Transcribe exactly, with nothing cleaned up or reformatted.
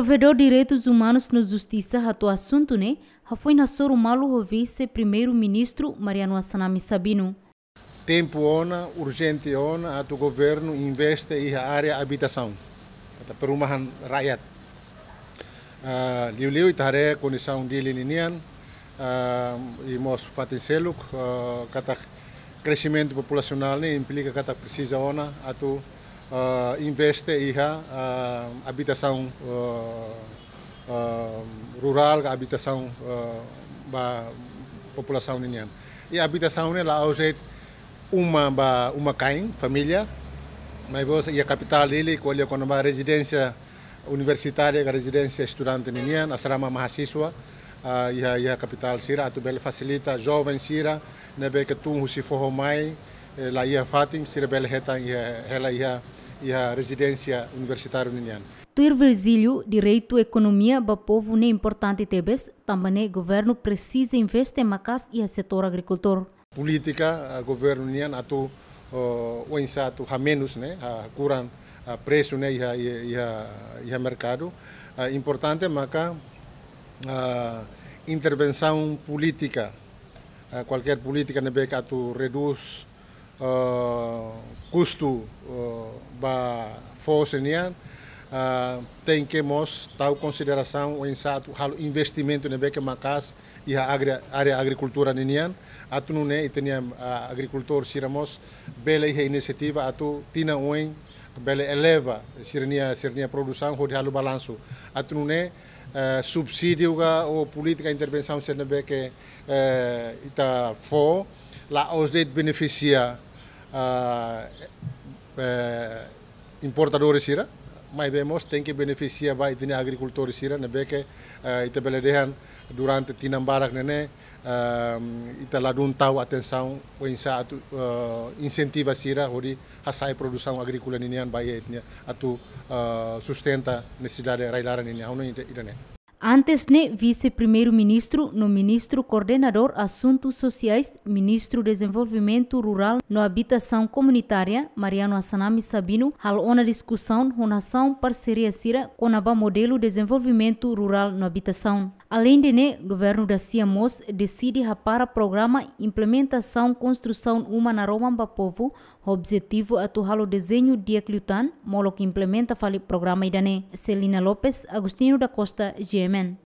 Provedór Direitus Umanus no Justisa hato'o asuntu ne'e hafoin hasoru malu ho Vise-Primeiru-Ministru Mariano Assanami Sabino. Tempu ona, urjente ona atu governu investe iha área abitasaun, atu perumahan rakyat. Ah, liuliu ita haree kondisaun Dili ninian, ah, i mós fatin seluk, ah, katak kresimentu populasionál ne'e implika katak presiza ona atu, ah, investe iha, ah, abitasaun, ah, ah, rurál ka abitasaun, ah, ba populasaun ninian. I abitasaun ne'e la'ós de'it uma ba uma-kain, família, maibé iha kapitál Dili ko'alia kona-ba rezidénsia universitária ka rezidénsia estudante ninian, asrama mahasiswa, ah, iha, iha kapitál sira atu bele fasilita joven sira ne'ebé ke tun husi foho mai, eh, la iha fatin, sira bele hetan iha, hela iha, iha rezidénsia universitáriu ninian. Tuir Virgílio, direitu ekonomia ba povu ne'e importante tebes, tanba ne'e governu presiza investe maka'as iha setór agrikultór. Polítika, ah, governu nian atu, oh, oinsá atu hamenus ne'e, ah, kuran, ah, presu ne'e iha, iha, iha, iha merkadu. Ah, importante maka, ah, intervensaun polítika, ah, kualkér polítika ne'ebé ke atu redús, ah, kustu, ah, ba fó sira-nian, ah, tenke mós tau konsiderasaun oinsá atu halo investimentu ne'ebé ke maka'as iha agri-, área agrikultura ninian, atu nune'e ita-nia, ah, agrikultór sira mós bele iha inisiativa atu tinan oin bele eleva sira-nia, sira-nia produsaun hodi halo balansu. Atu nune'e, eh, subsídiu ka ou polítika intervensaun sira ne'ebé ke, eh, ita fó, la'ós de'it benefisia, ah, eh, importadores sira, maibé mós tenke benefisia ba ita-nia agrikultór sira ne'ebé ke, eh, ita bele dehan durante tinan barak ne'e ne'e, ehm, ita ladún tau atensaun oinsá atu, eh, insentiva sira hodi hasa'e produsaun agríkola ninian ba iha ita-nia atu, eh, sustenta nesesidade rai-laran ninian. Ha'u hanoin ida, ida-ne'e. Antes ne'e, Vise-Primeiru-Ministru no Ministru Koordenadór Asuntus Sosiais, Ministru Dezenvolvimentu Rurál no Abitasaun Komunitária, Mariano Assanami Sabino, halo ona diskusaun ho nasaun parseria sira kona-ba modelu dezenvolvimentu rurál no abitasaun. Aleinde ne'e, governu dasia mós deside hapara programa implementasaun konstrusaun uma naroman ba povu, ho objetivu atu halo dezeñu di'ak liután, molok implementa fali programa ida-ne'e. Celina Lopes, Agostinho da Costa, G M N.